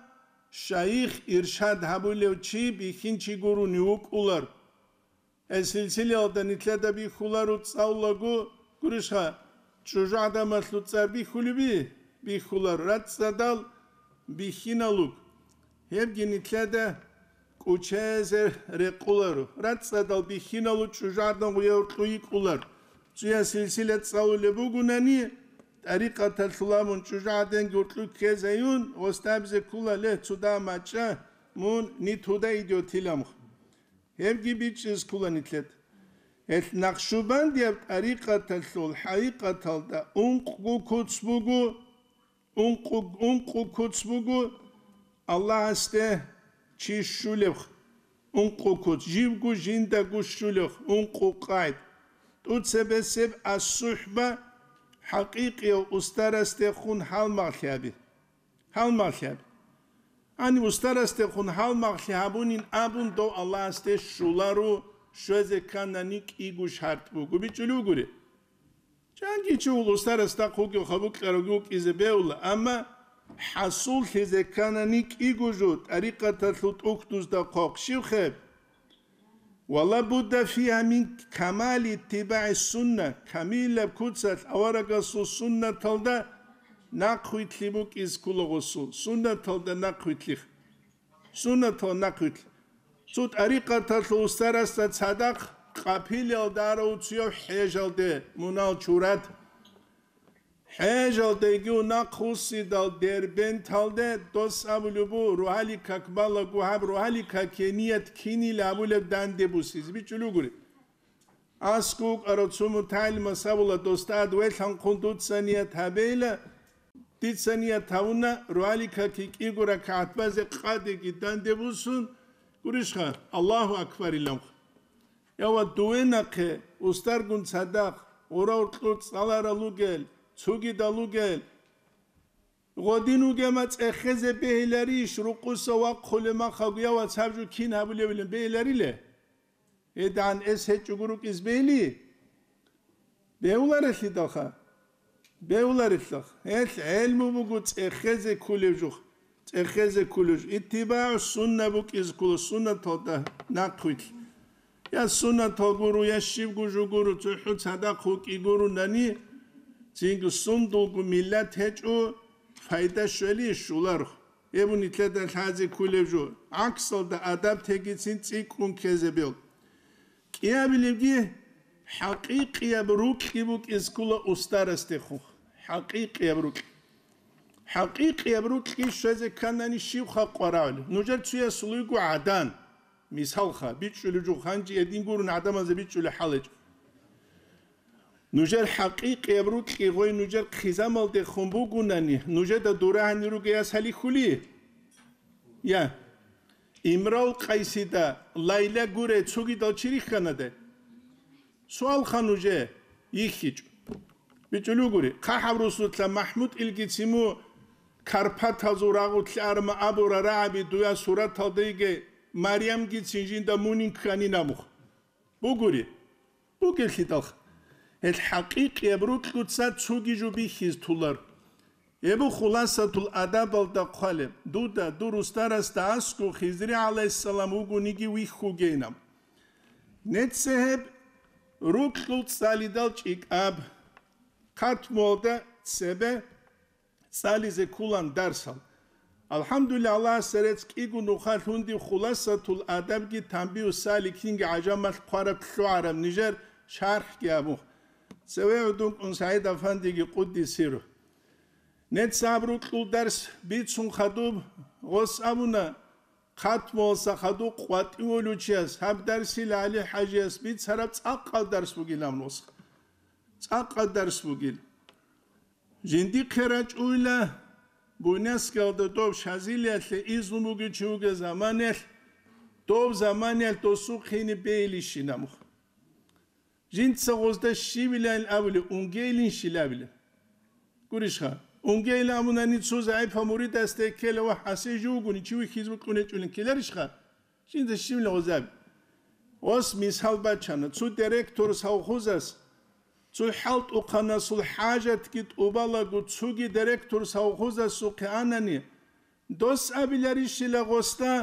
шайих, иршад гьабулев чи бихьинчи гурони вукӀулар. Гьел силсилаялда нилъеда бихьуларо цӀалулаго, гурищха, чӀужугӀаданалъул цӀар бихьулеби? Бихьуларо. РацӀцӀадал бихьиналуг. Гьебги нилъеда кӀучезе рекъоларо. РацӀцӀадал бихьиналуг чӀужугӀадан гъуя гьоркьо йикӀулар. Цояс силсила цӀалулеб бугунани, тӀарикъаталъул абун чӀужугӀаданги гьоркьо ккезаюн, гъосда абизе ккола, ле, цо дагьа мачӀа, мун нитуда идётиламха. Гьебги бичӀчӀизе ккола нилъеда. Гьелъ Накъшубандияб тӀарикъаталъул хӀакъикъаталда ункъго куц буго, ункъу-, ункъо куц буго Аллагьасде чи щулеб ункъо куц, живго жиндаго щулеб ункъо къайд. ТӀуцебесеб ас-сухӀба, хӀакъикъияв устарасдехун гьалмагълъи гьаби. Гьалмагълъи гьаби. Гьаниб устарасдехун гьалмагълъи гьабунин абун дов Аллагьасде щуларо, щвезе кканани кӀиго шартӀ буго, бичӀчӀулев гури. Чанги чи вуго устарасда хъуги хабукьарав вукӀизе бегьула, амма хӀасуллъизе кканани кӀиго жо тӀарикъаталъул тӀухьдузда хъвахъ щивхъеб? Ва ла будда фиха мин камали иттибагӀи сунна, камилаб куцалъ аварагасул суннаталда нахъвилълъи букӀиз ккола гъосул, суннаталда нахъвилълъи. Суннатал нахъвилълъи. Цо тӀарикъаталъул устарасда цадахъ къапилиялда арав цуяв хӀежалде мунал чурат. ХӀежалдеги унахъ вуссидал Дербенталде дос абулеб бу, рогьалил как балагу гьаб, рогьалил каке ният кинил абулеб данде бусизе бичӀчӀулев гури. АскӀов вукӀарав цо мутагӀилимас абула, досда ад велъанхъун дуца ният гьабейла, дица ният гьавуна, рогьалил каке кӀиго ракагӀат базе къадеги данде бусун, гурищха, Аллагьу акбар иланхъ. Я ва дуве нахъе, устаргун цадахъ, гъура-уркьур цӀаларал ругел, цугидал ругел, гъодин вугема цӀехезе бегьиларищ, рукъуса вахъулеб махалгу, я ва цаб жо кин гьабулевилан бегьилариле? ГьедигӀан эс гьечӀого рукӀиз бегьили? Бегьуларелъидалха? Бегьуларелъидалха. Гьелъ гӀелму буго цӀехезе кколев жух. ЦӀехезе кколев жух. ИттибагӀу сунна букӀиз ккола, суннаталда нахъвилълъи. Я суннатал гуро, я щибго жо гуро, цохӀо цадахъ вукӀи гурунани, цинги сундулго миллат гьечӀо, пайда щвели щуларх. Гьеб нилъеда лъазе кколев жо. ГӀаксалда адаб тегицин цӀикӀкӀун ккезе бел. КӀиабилебги хӀакъикъияб рукьи букӀиз ккола устарасдехун. ХӀакъикъияб рукь. ХӀакъикъияб рукьги щвезе кканани щиб халкъ варагӀули? Нужер цуясул вуго гӀадан. Мисалха, бичӀчӀулев жо ханжи гьедин гурун гӀадамазе бичӀчӀулев хӀалечӀо. Нужер хӀакъикъияб рукьи гъой нужер хъизамалдехун бугунани, нужеда дурагьани ругеяс гьалихьули? Я. Имрал Къайсида Лайла гуре цогидал чи рихьанада? Суалха нужее, йихьичӀо. БичӀулев гури, хъахӀаб русулъа МахӀмуд илгицин му Карпатазул рагъулъ арма абура рагӀаби дуя сураталда йиге Марямгицин жинда мунин кканин абухъ. Бугури. Бугелъидалха. Гьел хӀакъикъияб рукьуца цуги жо бихьиз тулар. Гьеб бу Хуласатул адабалда хъвалеб, дуда, дур устарасда аскӀо Хизри гӀалайгьиссалам вугониги вихьугейилан. Нецце гьеб рукьул цӀалидал чӀикӀаб, хъатмуялда цебе цӀализе кколан дарсал. АлхӀамдулиллагь, Аллагьасда рецц кӀиго нухалъ гьундиб Хуласатул адабги Танбигьу саликинги гӀажамалъ хъвараб лъугӀараб нижер шархӀги абун. Цеве гӀодун кӀун СагӀид-афандиги къуддис сирругьу. Нецц гьаб рукьул дарс бицун хадуб, гъос абуна, хъатмуялдаса хадуб къватӀивулев чияс гьаб дарсил ГӀали-хӀажияс бицараб цӀакъал дарс бугилан гъос. ЦӀакъал дарс бугил. Жиндихъе рачӀуйла, Буйнакскиялда доб Шазилиялъе изну бугев чи вугев заманаялъ, доб заманаялъ досухъе ине бегьилищин абун. Жинца гъозда щивилан абулеб, унгейилищин абилеб. Гурищха, унгейилан абунани цо загӀипав муридасда ккела ва хӀасие жив вугони чи вихьизе бокьун гьечӀолин ккеларищха? Жинда щивилан гъозаби. Ос мисал бачана, цо директор совхозас, цо хӀалтӀухъанасул хӀажатги тӀубалаго, цоги директор совхозасухъе анани, дос абиларищила гъосда,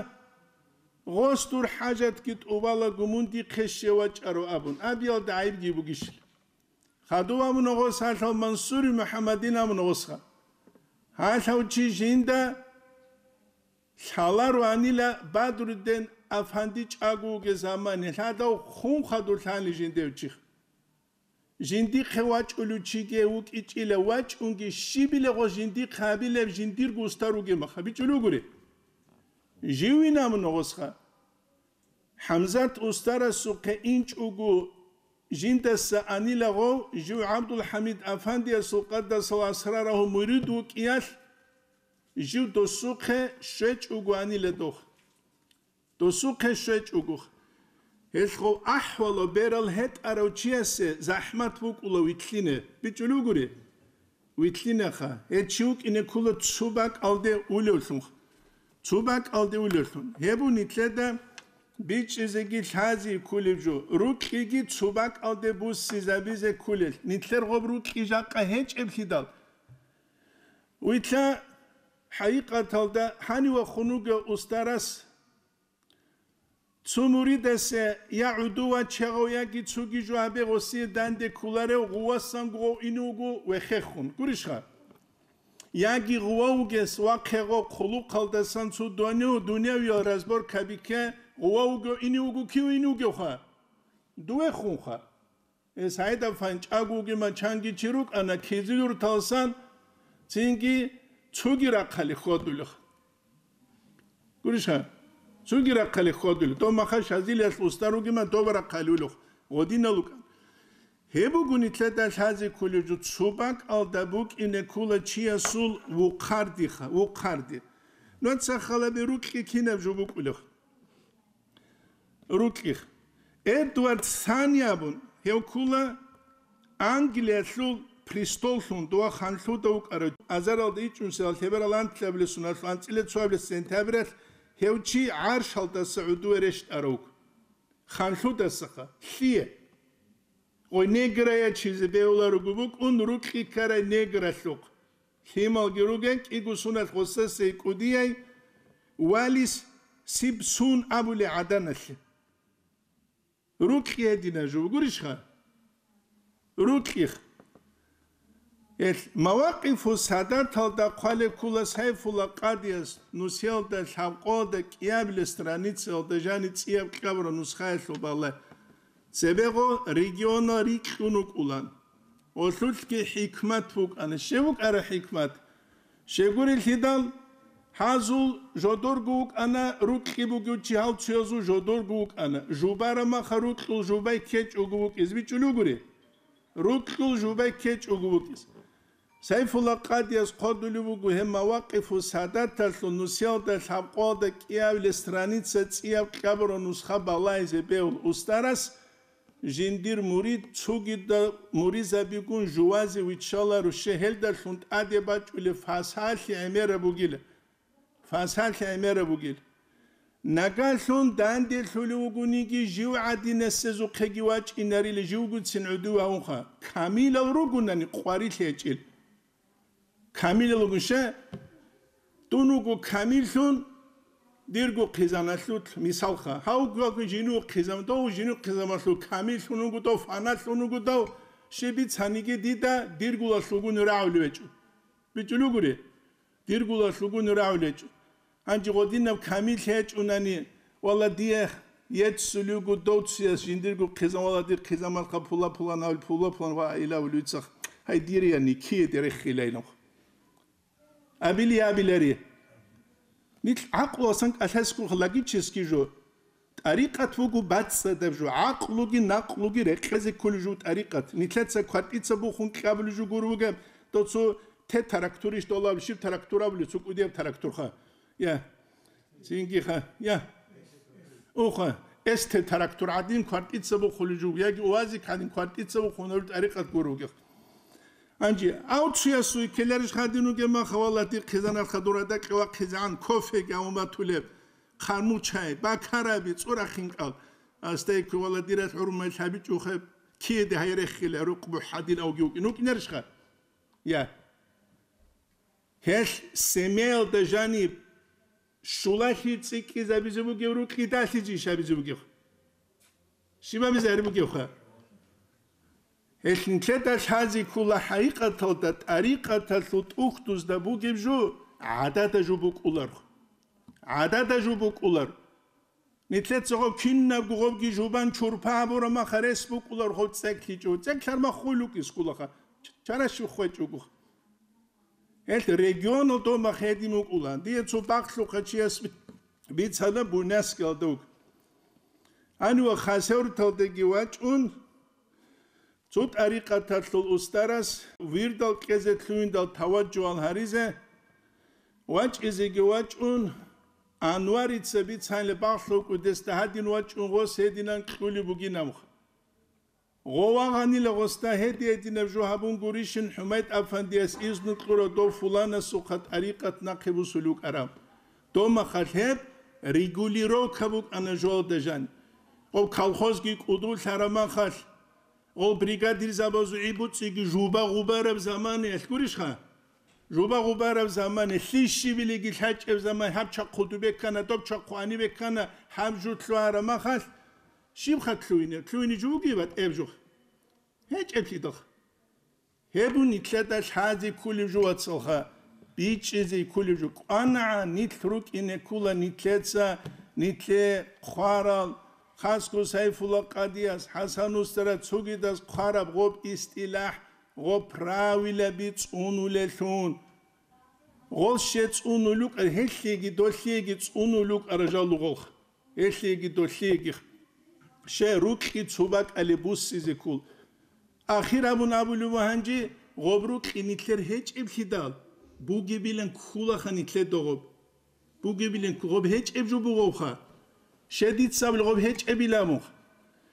гъос дур хӀажатги тӀубалаго мун дихъе щев вачӀаро абун, абиялда гӀайибги бугищила. Хадув абуна гъос гьалъав Мансури МухӀаммадин абуна гъосха. Гьалъав чи жинда лъаларо анила Бадруддин афанди чӀаго вугев заман, гьелъадав хун хадур лъани жиндев чихъ. Жиндихъе вачӀулев чиги вукӀичӀила, вачӀунги щибила гъос жиндихъе гьабилеб жиндирго уста ругеб маха бичӀулев гури. Живин абуна гъосха. ХӀамзат устарасухъе инчӀого жиндаса анила гъов, жив ГӀабдулхӀамид афандиясул къаддасаллагьу асрарагьу мурид вукӀиялъ, жив досухъе щвечӀого анила дох. Досухъе щвечӀого. Гьелъго ахӀвалав берал гьетӀарав чиясе захӀмат букӀула вилълъине. БичӀчӀулев гури? Вилълъинаха. Гьев чи вукӀине ккола цо бакӀалде улевлъун. Цо бакӀалде улевлъун. Гьеб нилъеда бичӀчӀизеги лъази кколеб жо. Рукьиги цо бакӀалде буссизабизе кколел. Нилъер гъоб рукьи жакъа гьечӀеблъидал. Вилълъа, хӀакъикъаталда гьанив вахун вугев устарас цо муридасе я гӀодов вачегъав, яги цоги жо гьабе гъосие данде кколарев гъувасан гъов инев вуго вехехун. Гурищха? Яги гъував вугес вахъегъав хъулухъалдасан цо дунев-, дуневиял разборка бике гъував вуго инев вуго кив инев вугевха? Дувехунха. Гьес гьайда фанчӀаго вугема чанги чи рукӀана, кизил юрталсан цинги цоги рахъали хьвадулев. Гурищха? Цоги рахъали хьвадулев. Дов маха шазилиялъ устар вугема дов рахъали улев. Гъодинал вукӀан. Гьеб буго нилъеда лъази кколеб жо, цо бакӀалда букӀине ккола чиясул вухъардиха, вухъарди. Нуца халаби рукьи кинаб жо букӀулев? Рукьих. Эдвард Сани абун, гьев ккола Англиялъул престоллъун дова ханлъуда вукӀарав. Азаралда ичӀунсиялъ лъеберал анлъабилеб соналъ анцӀила цоабилеб сентябралъ гьев чи гӀаршалдаса гӀодове рещтӀарав вуго. Ханлъудасаха. Лъие? Гъой неграя чизе бегьуларого букӀун, рукьи ккарай негралъухъ. Лъималги ругел кӀиго соналъ гъосасей кӀудияй Валис Сибсун абулей гӀаданалъе. Рукьи гьедина жо, гурищха? Рукьих. Гьелъ Мавакъифу Садаталда хъвалеб ккола Сайфула къадияс, нусиялда лъабкъоялда кӀиабилеб страницаялда жани цӀияб кьабураб нусхаялъул балай. Цебегъо регионал рикьун вукӀулан. Гъолъулъги хӀикмат букӀана. Щив вукӀара хӀикмат? Щегурелъидал, гьазул жодорго вукӀана, рукьи бугев чи гьал цоязул жодорго вукӀана. Жубараб маха рукьул жубай ккечӀого вукӀиз бичӀчӀулев гури? Рукьул жубай ккечӀого вукӀиз. Сайфула къадияс хъодулев вуго гьеб Мавакъифу Садаталъул нусиялда лъабкъоялда кӀиабилеб страница цӀияб кьабураб нусха балайзе бегьул устарас, жиндир мурид цогидал муризабигун жувазе виччаларо, щегьелдалъун тӀаде бачӀулеб фасалъи гӀемераб бугила. Фасалъи гӀемераб бугил. Нагалъун данделъулев вугониги, жив гӀадинасезухъеги вачӀинарила, живгуцин гӀодов вавунха. Камилал ругонани къварилъи гьечӀил. Камилал ругун ше, дун вуго камиллъун, дирго хъизаналъул мисалха. Гьав вуго жинув хъизан, дов жинув хъизамалъул камиллъун вуго дов, фаналъун вуго дов, щиб бицаниги дида диргулалъугун рагӀулев гьечӀо. БичӀчӀулев гури? Диргулалъугун рагӀулечӀо. Гьанже гъодинаб камил гьечӀунани, вала, дие еццулего довцияс жиндирго хъизан, вала, дир хъизамалха пула-пулан, гьавил пула-пулан ва илавулев цах, гьай, дир яни, киеде реххилайнухъ. Абили абилари. Нилъ гӀакълусан кӀалъаскухъ логический жо. ТӀарикъат буго бацӀцӀадаб жо, гӀакълуги накълуги рекъезе кколеб жо тӀарикъат. Нилъеца квартица бухун кьабулеб жо гуро бугеб, дов цо те тарактурищ долаб, щиб тарактур абулеб, цо кӀудияб тарактурха. Я. Цинги ха. Я. Уха. Эс те тарактур гӀадин квартица бухулеб жо, яги УАЗик гӀадин квартица бухун гьабулеб тӀарикъат гуро бугеб. Гьанже, авцуясуй келарищ гьадин вугеб маха, валлагь, дир хъизаналха дур гьадакьа вахъизегӀан кофеги гьавун батулеб. Хъармучай, бакараби, цӀурахинкӀал. Астайкку, вала, дирал хӀурмай лъабичӀухъеб, киеде гьай реххила, рукъ бухӀадин авги вукӀин вукӀинарищха? Я. Гьелъ семиялда жаниб щулалъи цӀикӀкӀизабизе бугев рукъидалъи жи шабизе бугев? Щибабизе гьари бугевха? Гьелъ нилъеда лъази ккола хӀакъикъаталда тӀарикъаталъул тӀухьдузда бугеб жо гӀадада жо букӀулархъ. ГӀадада жо букӀулар. Нилъеца гъоб кинабго гъобги жубан чурпа гьабураб маха рес букӀулар гъоб цӀеклъичӀо. ЦӀеклъар маххул вукӀис кколаха. Чаращив хвечӀого. Гьелъ регионалда мах гьедин вукӀула. Дие цо бахълъухъа чияс бицана Буйнакскиялда вуго. Гьанив ва Хасавюрталдаги вачӀун, цо тӀарикъаталъул устарас вирдал кьезе лъугьиндал таваджугьал гьаризе, вачӀизеги вачӀун, Анварица бицанила багълъукӀудесда гьадин вачӀун гъос гьединан кьулеб бугинабха. Гъов вагъанила гъосда гьеди-гьединаб жо гьабун гурищин ХӀумайд афандияс изну кьура дов фуланасухъа тӀарикъат нахъе бусулев вукӀараб. Домахалъ гьеб регулировка букӀана жоялда жан. Гъов колхозги кӀудулъараб махалъ, гъов бригадирзабазул гӀибуцӀиги жуба-гъубараб заманаялъ гурищха? Жуба-гъубараб замана, лъищибилиги лъачӀеб заман, гьаб чахъу дубе ккана, доб чахъу гьанибе ккана, гьаб жу лъугьараб махалъ, щибха лъугьине? Лъугьине жо бугеб батӀеб жо? ГьечӀеблъидал. Гьеб бун нилъеда лъазе ккулеб жо, вацалха, бичӀчӀизе ккулеб жо. КӀванагӀа, нилъ рукӀине ккула нилъеца, нилъе хъварал, хасго Сайфулла къадияс, ХӀасан устарас, цогидаз хъвараб гъоб истилахӀ, гъоб правилаби цӀунулелъун. Гъол ще цӀунулукӀа, гьелъиеги долъиеги цӀунулукӀара жал лугъолха. Гьелъиеги долъиеги ще рукьи цо бакӀалеб буссизе ккул. Ахир абун абулев гьанже, гъоб рукьи нилъер гьечӀеблъидал, бугебилан ккулаха нилъеда гъоб. Бугебилан кку-, гъоб гьечӀеб жо бугъовха. Ще дица абулеб гъоб гьечӀебилан мух.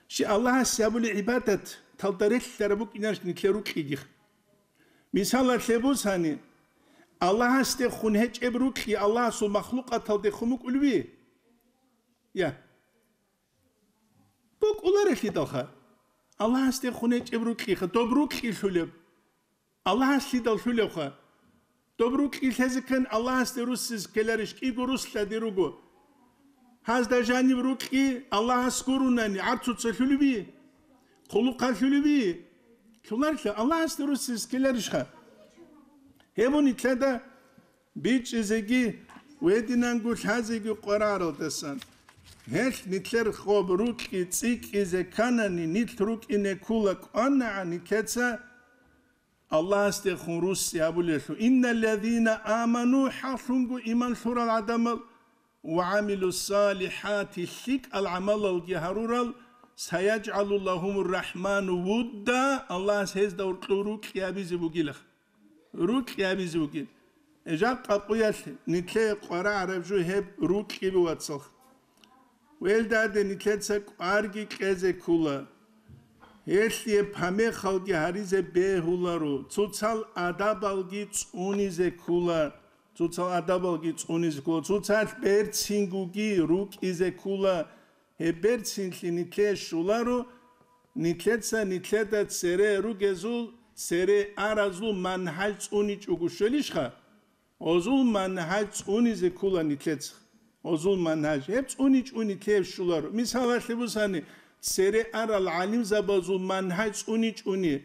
Ще Аллагьасе гьабулеб гӀибадат талда релълъараб букӀинарищ нилъер рукьигих? Мисалалъе бусани, Аллагьасдехун гьечӀеб рукьи Аллагьасул махлукъаталдехун букӀулеби? Я. БукӀуларелъидалха. Аллагьасдехун гьечӀеб рукьиха, доб рукьи лъулеб. Аллагьас лъидал лъулевха? Доб рукьи лъезе ккани Аллагьасде руссизе ккеларищ, кӀиго рус лъади руго. Гьазда жаниб рукьи Аллагьас гурунани гӀарцуца лъулеби? Хъулухъа лъулеби? Лъуларилъа Аллагьасде руссизе ккеларищха? Гьеб бун нилъеда бичӀчӀизеги, гьединанго лъазеги къвараралдасан. Гьелъ нилъер гъоб рукьи цӀикӀкӀизе кканани, нилъ рукӀине ккула кӀванагӀа нилъеца Аллагьасдехун русси абулелъул: «Инналлазина аману», хӀалъунго иман лъурал гӀадамал, «ва гӀамилуссалихӀати», лъикӀал гӀамалалги гьарурал, «сайяджгӀалу лагьумур рахӀману вудда», Аллагьас гьезда гьоркьов рукьи абизе бугилах. Рукьи абизе бугил. Жакъа къуялъ нилъее къварагӀараб жо гьеб рукьи бугацалха. Велдаде нилъеца кӀварги кьезе ккула. Гьелъие памехалги гьаризе бегьуларо, цоцал адабалги цӀунизе ккула, цоцал адабалги цӀунизе ккула, цоцалъ берцингоги рукӀизе ккула. Гьеб берцинлъи нилъее щоларо, нилъеца нилъеда цере ругезул, цере аразул мангьаж цӀуничӀого щвелищха? Гъозул мангьаж цӀунизе ккула нилъеца. Гъозул мангьаж. Гьеб цӀуничӀони лъеб щуларо. Мисалалъе бусани, цере арал гӀалимзабазул мангьаж цӀуничӀони.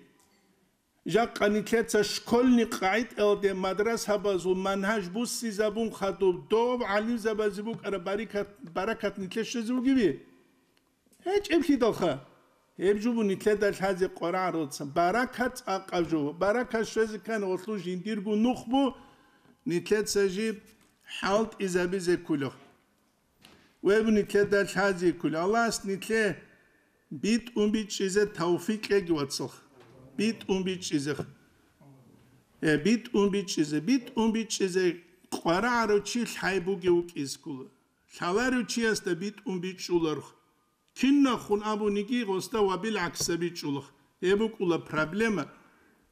Жакъа нилъеца школьный къагӀидаялде мадрасабазул мангьаж буссизабун хадуб доб гӀалимзабазе букӀараб барикат-, баракат нилъе щвезе бугеби? ГьечӀеблъидалха. Гьеб жо бу нилъеда лъазе къварагӀаралдасан. Баракат цӀакъаб жо. Баракат щвезе ккани гъолъул жиндирго нух бу, нилъеца жиб хӀалтӀизабизе кколев. Гьеб бу нилъеда лъазе кколев. Аллагьас нилъе битӀун бичӀчӀизе тавфикъ кьеги, вацалха. БитӀун бичӀчӀизе. Э, битӀун бичӀчӀизе. БитӀун бичӀчӀизе къварагӀарав чи лъай бугев вукӀизе ккола. Лъаларев чиясда битӀун бичӀчӀуларх. Кинахун абуниги гъосда ва билгӀаксаби чӀулах. Гьеб букӀула проблема.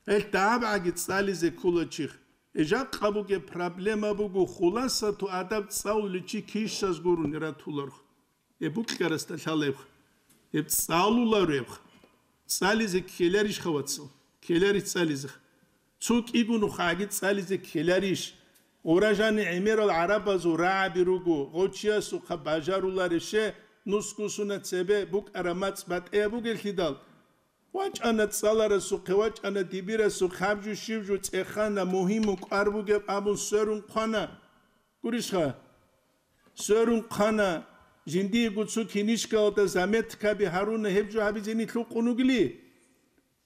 Гьелъ дагьабгӀаги цӀализе ккула чих. Э, жакъа бугеб проблема буго, хуласату адаб цӀалулев чи кищаз гурони ратуларх. Гьеб букьарасда лъалебха. Гьеб цӀалуларебха. ЦӀализе ккеларищха, вацал? Ккеларищ цӀализеха. Цо кӀиго нухагӀаги цӀализе ккеларищ? Гъура жани гӀемерал гӀарабазул рагӀаби руго, гъочиясухъа бажаруларище, нусгусуна цебе букӀара мацӀ батӀияб бугелъидал. ВачӀана цӀаларасухъе, вачӀана дибирасухъе, гьаб жо щиб жо цӀехана, мугьимун кӀвар бугеб абун сверун хъвана. Гурищха? Сверун хъвана, жиндиего цо кинишкалда заметкаби гьаруна, гьеб жо гьабизе нилъ вукъун вугили?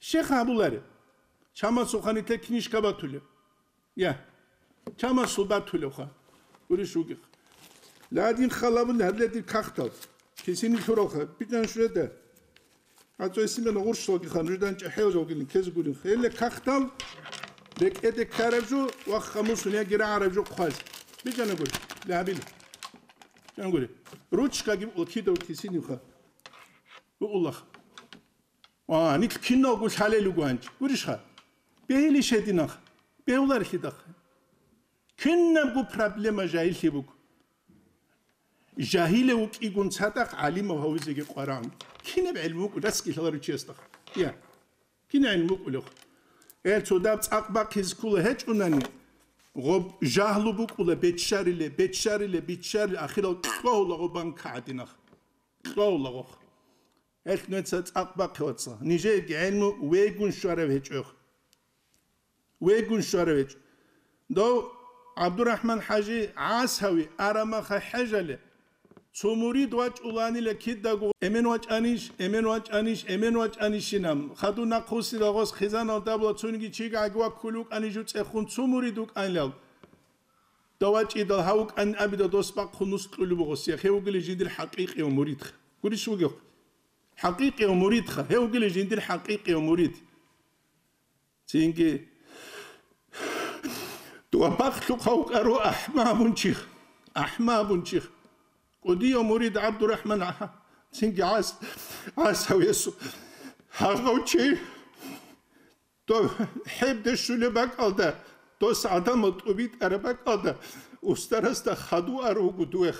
Щех абуларе. Чамасухъа нилъер кинишка батулеб. Я. Чамасул батулевха. Гурищ вугех. Ладин халабун гьабиле дир кахтал. Кисини лъуралха. БитӀан шуреда. ГьацӀой симена гъурщалги хан, жудан чӀехӀел жалгилин кез гурин. Хеле кахтал, рекӀеде ккараб жо ва хамусун яги рагӀараб жо хъваз. БичӀана гури, лягьабил. Чангури. Ручкаги букӀула кидаго кисинивха. БукӀулах. Ва, нилъ киналго лъалел руго гьанчи. Гурищха? Бегьилищ гьединах. Бегьуларелъидахъ. Кинабго проблема жагьиллъи буго. Жагьилев вукӀигун цадахъ гӀалимав гьавизеги къваран. Кинаб гӀелму вукӀу, раскилъаларучиясдахъ. Я. Кин гӀин вукӀулев? Эр цо даб цӀакъ бахъизе ккола гьечӀунани, гъоб жагьлу букӀула, беччариле, беччариле, беччариле, ахирал кьогьула гъоб банка гӀадинах. Кьогьула гъох. Гьелъ нуца цӀакъ бахъе, вацал. Нижееги гӀелму вегун щварав гьечӀо. Вегун щварав гьечӀо. Дов ГӀабдурахӀман-хӀажи ГӀасави арамаха хӀежале, цо мурид вачӀуланила кидаго, эмен вачӀанищ, эмен вачӀанищ, эмен вачӀанищинаб. Хадур нахъвуссидал гъос хъизаналда була, цониги чигӀаги ваккулев вукӀани жуцӀехун цо мурид вукӀанилал. Давачидал гьав вукӀанин абидал дос бахъун нус кьулеб бугъос, я, гьев вугилищ жиндир хӀакъикъияв муридха. Гурищ вугев? ХӀакъикъияв муридха, гьев вугилищ жиндир хӀакъикъияв мурид. Цинги дуа бахълъухъав вукӀаро ахӀма абун чих, ахӀма абун чих. КӀудияв мурид ГӀабдурахӀман, цинги гӀас-, гӀасав гьесул гьагъав чи. Дов хӀебде щулеб бакӀалда, дос гӀадамал тӀубитӀараб бакӀалда, устарасда хадув ар вуго дуех.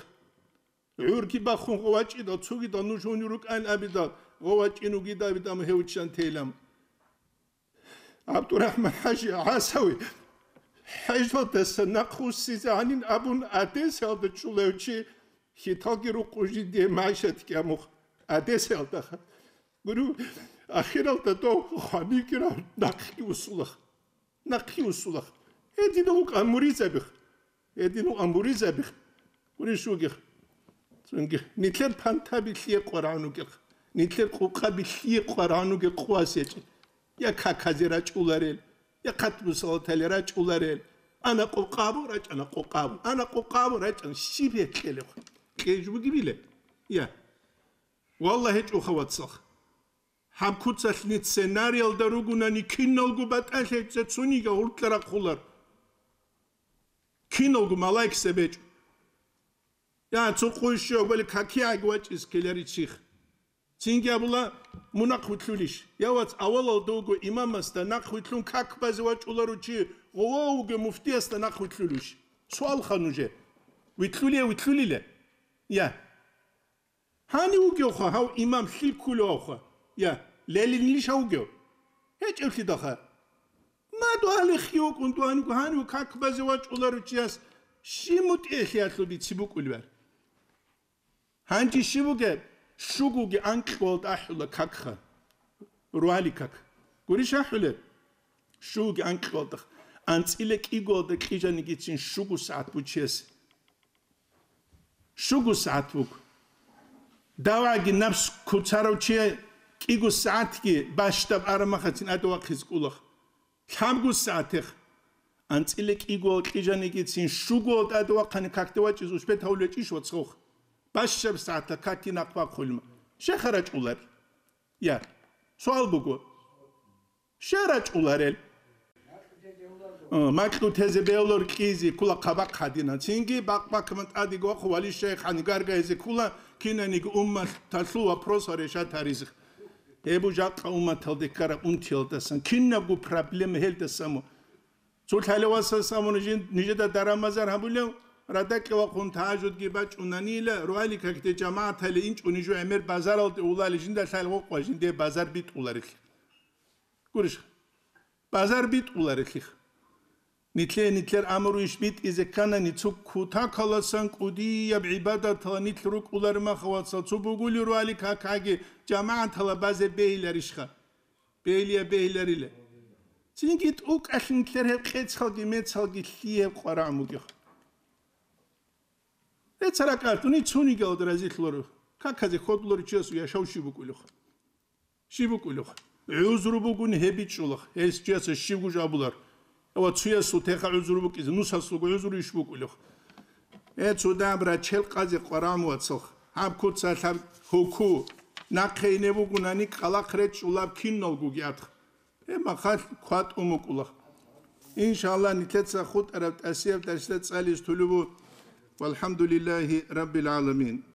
ГӀурги бахун гъовачӀидал, цугидал нуж гьунив рукӀан абидал, гъовачӀин вугидабидам гьев чан тейлам. ГӀабдурахӀман-хӀажи ГӀасави хӀежалдаса нахъвуссизе гьанин абун Одессаялда чӀулев чи, хьиталги рукъу жиндие майшатги амухъ Одессаялдаха. Гуру, ахиралда дов хванигирав нахъги усулах. Нахъги усулах. Гьединав вукӀан муризабих. Гьединав вукӀан муризабих. Гурищ вугих. Цунги. Нилъер пантаби лъие къварагӀун вугих. Нилъер къукъаби лъие къварагӀун вугих къувас ячӀи. Я каказе рачӀуларел, я хъатмусалатале рачӀуларел. Ана къукъабу, рачӀана къукъабу. Ана къукъабу, рачӀана. Щиб гьекъелев? Кьеж бугибиле? Я. Валлагь, гьечӀоха, вацал. Гьаб куцалъни сценариялда ругунани киналго батӀалъи гьечӀо, цониги гьуркьа рахъулар. Киналго малаикзаб гьечӀо. Я, цо къуй щив гьабали какиягӀги вачӀиз ккелари чих. Цинги абула, мун нахъвилълъулищ? Я, вац, авалалда вуго имамасда нахъвилълъун как базе вачӀулару чи, гъова вуго муфтиясда нахъвилълъулищ? Суалха нужер. Вилълъулия, вилълъулила? Я. Гьанив вугевха гьав имам, лъикӀулевха? Я, лелинилищ гьав вугев? ГьечӀевлъидалха. Мадугьалихъги вукӀун дугьаниго гьанив как базе вачӀуларучияс щиб мутӀигӀлъиялъул бицине букӀулеб? Гьанже щиб бугеб? Щугоги анкьуялда ахӀула какха. Ругьали как. Гурищ ахӀулеб? Щугоги анкьуялда. АнцӀила кӀигоялда кьижанигицин щуго сагӀат бучес. Щуго сагӀат буго. Даваги напс куцарав чи кӀиго сагӀатги бащдаб арамахацин тӀаде вахъизе кӀулах. Лъабго сагӀатех. АнцӀила кӀиго кьижанигицин щуго тӀаде вахъани какде вачӀиз успеть гьавулечӀищ, вацгъох? Бащдаб сагӀатда какги нахъ бахъулма. Щеха рачӀулар? Я. Суал буго. Щай рачӀуларел? Э, макьу тезе бегьулар кьизе ккола хъабахъ гьадина. Цинги бакъ-бакъ тӀадеги вахъун вали шайх гьанигаргайзе ккола кинаниги умматалъул вопросал решать гьаризе. Гьеб жакъа умматалде ккараб унтиялдасан, кинабго проблема гьелдасан. Цо лъалев васас абуна жин-, нижеда даран-базар гьабулев, радакье вахъун тагьажудги бачӀунанила, ругьали какде жамагӀатале инчӀо нижу гӀемер базаралде улали жинда лъай гъокъ ва жинде базар битӀуларелъи. Гурищ, базар битӀуларелъих. Нилъе-, нилъер амру иш битӀизе кканани, цо кутакаласан кӀудияб гӀибадатала нилъ рукӀулари махавацал, цо бугули руали какаги жамагӀатала базе бегьиларищха? Бегьилия бегьиларила. Цинги тӀукӀалъ нилъер гьеб къецалги мецалги лъие гьеб къварагӀун бугех. Гье, царакъ артуни цунигал разилъуларо. Каказе хьодуларо чиясул яшав щиб букӀулех? Щиб букӀулех? ГӀузру бугун гьеб бичӀчӀулах, гьес чиясда щиб гуж абулар. Ва цуясул теха гӀузру букӀизе, нусасулго гӀузру иш букӀулех? Э, цо даб рачел къазе къварагӀун вацалх. Гьаб куцалъаб гьуку. Нахъе ине бугунани кӀалахъ речӀчӀулаб киналгоги атх. Гьеб махалъ кватӀун букӀулах. Иншаллагь, нилъеца хутӀараб тӀасияб дарсда цӀализ тулубу والحمد لله رب العالمين.